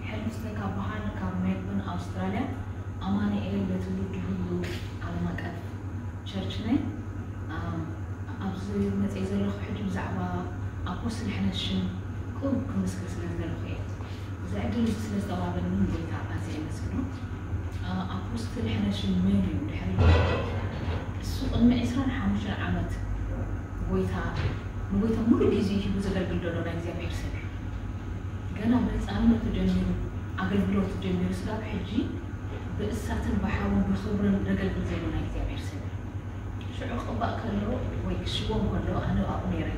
ሕልፍተ ካብ በሃል ካብ ሜልቦርን ኣውስትራልያ። ኣማኑኤል ለትውልድ ሁሉ ዓለም ኣቀፍ ቸርች ነኝ። ኣብዚ መፅእ ዘለኹ ሕጂ ብዛዕባ ኣፖስትል ሕነሽም ቁብ ክምስክር ስለ ዝደለኹ እየ። እዚ ዕድል እዚ ስለ ዝተዋህበኒ ንጎይታ ኣዝየ የመስግኖ። ኣፖስትል ሕነሽም መን እዩ? ድሕሪ እሱ ቅድሚ ዕስራን ሓሙሽተን ዓመት ጎይታ ንጎይታ ሙሉ ግዜ ሂቡ ዘገልግል ዘሎ ናይ እግዚኣብሔር ሰብ እዩ። ገና ብህፃንነቱ ጀሚሩ ኣገልግሎት ጀሚሩ ስጋብ ሕጂ ብእሳትን ብሓውን ብኽብርን ዘገልግል ዘሎ ናይ እግዚኣብሔር ሰብ እዩ። ሽዑ ክቕባእ ከሎ ወይ ክሽወም ከሎ ኣነ ኣብኡ ነይረ።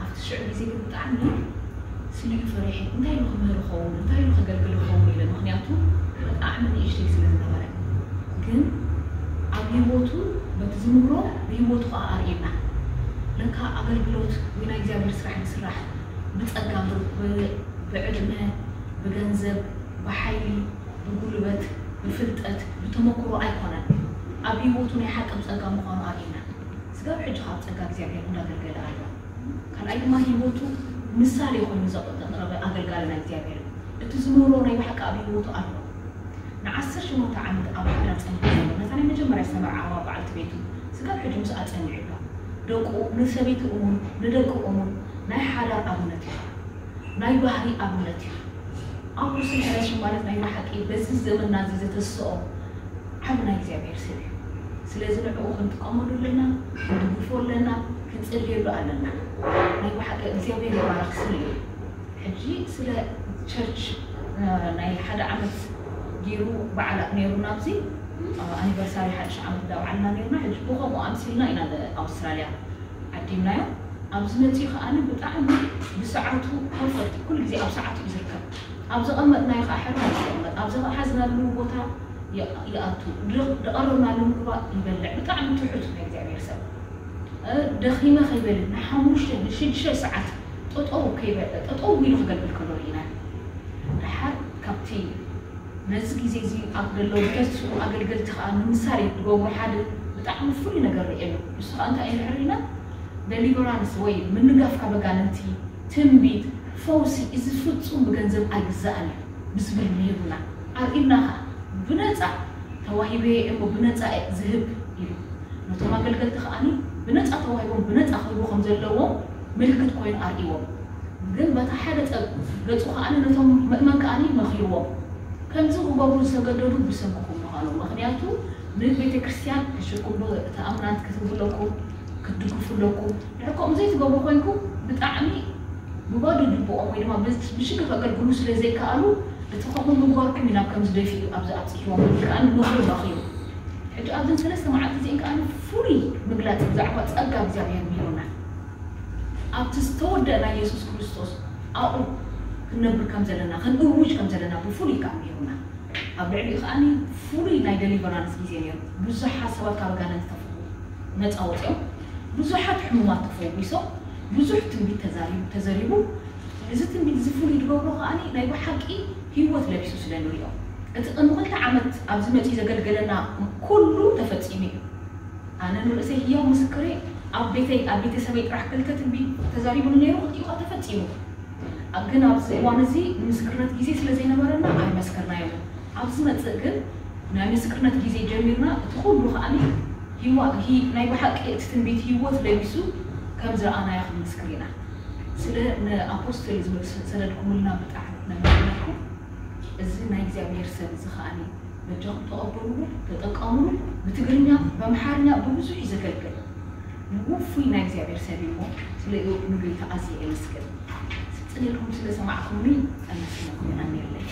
ኣብቲ ሽዑ ግዜ ግን ብጣዕሚ ስኒኡ ፈሪሐ። እንታይ ኢሉ ክምህር ይኸውን? እንታይ ኢሉ ከገልግል ይኸውን? ኢለ። ምኽንያቱ ብጣዕሚ ንእሽተይ ስለ ዝነበረ። ግን ኣብ ህይወቱ በቲ ዝምህሮ ብህይወቱ ከዓ ኣርእየና። ለካ ኣገልግሎት ወይ ናይ እግዚኣብሔር ስራሕ ዝስራሕ ብፀጋ፣ ብ- ብዕድመ፣ ብገንዘብ፣ ብሓይሊ፣ ብጉልበት፣ ብፍልጠት፣ ብተመክሮ ኣይኮነን። ኣብ ህይወቱ ናይ ሓቂ ብፀጋ ምዃኑ ኣርእየና። ስጋብ ሕጂ ካብ ፀጋ እግዚኣብሔር እንዳገልገለ ኣሎ። ካልኣይ ድማ ህይወቱ ምሳሌ ኮይኑ ዘቕረበ ኣገልጋሊ ናይ እግዚኣብሔር እዩ። እቲ ዝምህሮ ናይ ብሓቂ ኣብ ህይወቱ ኣሎ። ንዓሰርተ ሸሞንተ ዓመት ኣብ ሓዳር ጸኒሑ ዘሎ ነታ ናይ መጀመርያ ዝተመርዓዋ በዓልቲ ቤቱ ስጋብ ሕጂ ምስኣ ጸኒሑ ኣሎ። ደቁ ንሰበይቲ እሙን ንደቁ እሙን ናይ ሓዳር ኣብነት እዩ። ናይ ባህሪ ኣብነት እዩ። ኣኩስን ሕረሽን ማለት ናይ ብሓቂ በዚ ዘመንና እዚ ዘተስኦ ዓቢ ናይ እግዚኣብሔር ሰብ እዩ። ስለዚ ንዕኡ ክንጥቀመሉ ኣለና፣ ክንድግፎ ኣለና፣ ክንጽልየሉ ኣለና። ናይ ብሓቂ እግዚኣብሔር ይባረክ ስለ እዩ። ሕጂ ስለ ቸርች ናይ ሓደ ዓመት ገይሩ በዓላት ነይሩና ኣብዚ ኣኒቨርሳሪ ሓድሽ ዓመት እንዳበዓልና ነይርና። ሕጂ ብከምኡ ኣምሲልና ኢና ንኣውስትራልያ ዓዲምናዮ። ኣብዚ መፂኡ ከዓኒ ብጣዕሚ ብሰዓቱ ፐርፈክት ኩሉ ግዜ ኣብ ሰዓቱ እዩ ዝርከብ። ኣብ ዘቐመጥናዮ ከዓ ሕርና ይቀመጥ፣ ኣብ ዝሓዝናሉ ቦታ ይኣቱ፣ ዝቐረብናሉ ምግባ ይበልዕ። ብጣዕሚ ትሑት ናይ እግዚኣብሔር ሰብ። ደኺመ ከይበለ ንሓሙሽተ ንሽዱሽተ ሰዓት ጠጠው ከይበለ ጠጠው ኢሉ ክገልግል ከሎ ርኢና። ደሓር ካብቲ ነዚ ግዜ እዚ ኣብ ዘለዉ ብተስኡ ኣገልገልቲ ከዓ ንምሳሌ ዝገብሩ ሓደ ብጣዕሚ ፍሉይ ነገር ርእየሉ። ንሱ ከዓ እንታይ እዩ ንሕርኢና ደሊቨራንስ ወይ ምንጋፍ ካብ ኣጋንንቲ፣ ትንቢት፣ ፈውሲ እዚ ፍጹም ብገንዘብ ኣይግዛእን እዩ ብዝብል ምሂሩና ኣርእዩና። ከዓ ብነፃ ተዋሂበ እሞ ብነፃ ዝህብ ኢሉ ነቶም ኣገልገልቲ ከዓኒ ብነፃ ተዋሂቦም ብነፃ ክህቡ ከም ዘለዎም ምልክት ኮይኑ ኣርእዎም። ግን በታ ሓደ ፀብ ገፁ ከዓኒ ነቶም ምእመን ከዓኒ መኺርዎም። ከምዚ ክገብሩ ዝተገደዱ ብሰንክኹም ምዃኑ፣ ምኽንያቱ ንቤተ ክርስቲያን ክሽኩም ዶ ተኣምናት ክትህቡ ኣለኩም ክትድግፉ ኣለኩም። ድሕር ከምኡ ዘይትገብሩ ኮይንኩም ብጣዕሚ ብባዶ ጅቦኦም ወይ ድማ ብሽግር ከገልግሉ ስለ ዘይከኣሉ እቲ ከምኡ ምግባርኩም እዩ ናብ ከምዚ ደፊኡ ኣብዚ ኣብፂሕዎም ዝብል ከዓ ምኽሪ ረኺቡ። ሕጂ ኣብዘን ሰለስተ መዓልቲ እዚአን ከዓ ፍሉይ ምግላፅ ብዛዕባ ፀጋ እግዚኣብሔር ምሂሩና። ኣብቲ ዝተወደአ ናይ የሱስ ክርስቶስ ኣብኡ ክንነብር ከም ዘለና ክንእውጅ ከም ዘለና ብፍሉይ ከዓ ምሂሩና። ኣብ ልዕሊኡ ከዓኒ ፍሉይ ናይ ደሊቨራንስ ግዜ ነይሩ። ብዙሓት ሰባት ካብ ኣጋንንቲ ተፈ ነፃ ወፂኦም ብዙሓት ሕሙማት ተፈዊሶም ብዙሕ ትንቢት ተዛሪቡ ተዘሪቡ። እዚ ትንቢት እዚ ፍሉይ ዝገብሮ ከዓኒ ናይ ብሓቂ ህይወት ለቢሱ ስለ ንሪኦ። እቲ ቅድሚ ክልተ ዓመት ኣብዚ መፂኡ ዘገልገለና ኩሉ ተፈፂሙ እዩ። ኣነ ንርእሰይ ህያው ምስክሬ ኣብ ቤተይ ኣብ ቤተሰበይ ጥራሕ ክልተ ትንቢት ተዛሪቡኒ ነይሩ ክልቲኡ ከዓ ተፈፂሙ። ግን ኣብዚ እዋን እዚ ንምስክርነት ግዜ ስለ ዘይነበረና ኣይመስከርናዮን። ኣብ ዝመፅእ ግን ናይ ምስክርነት ግዜ ጀሚርና እቲ ኩሉ ከዓኒ ህይዋ- ሂ- ናይ ብሓቂ እቲ ትንቢት ህይወት ለቢሱ ከም ዝረኣናዮ ክንምስክር ኢና። ስለ ንኣፖስትል ዝብል ስ- ሰደድኩምልና ብጣዕሚ ነመስግነኩም። እዚ ናይ እግዚኣብሔር ሰብ እዚ ከዓኒ በጃኹም ተቐበልዎ፣ ተጠቀምሉ። ብትግርኛ፣ በምሓርኛ ብብዙሕ እዩ ዘገልግል። ንውፉይ ናይ እግዚኣብሔር ሰብ እዩ እሞ ስለ ንጎይታ ኣዝየ የመስግን። ስፅን ኢልኩም ስለ ሰማዕኩምኒ ኣመስግነኩም ይቐንየለይ።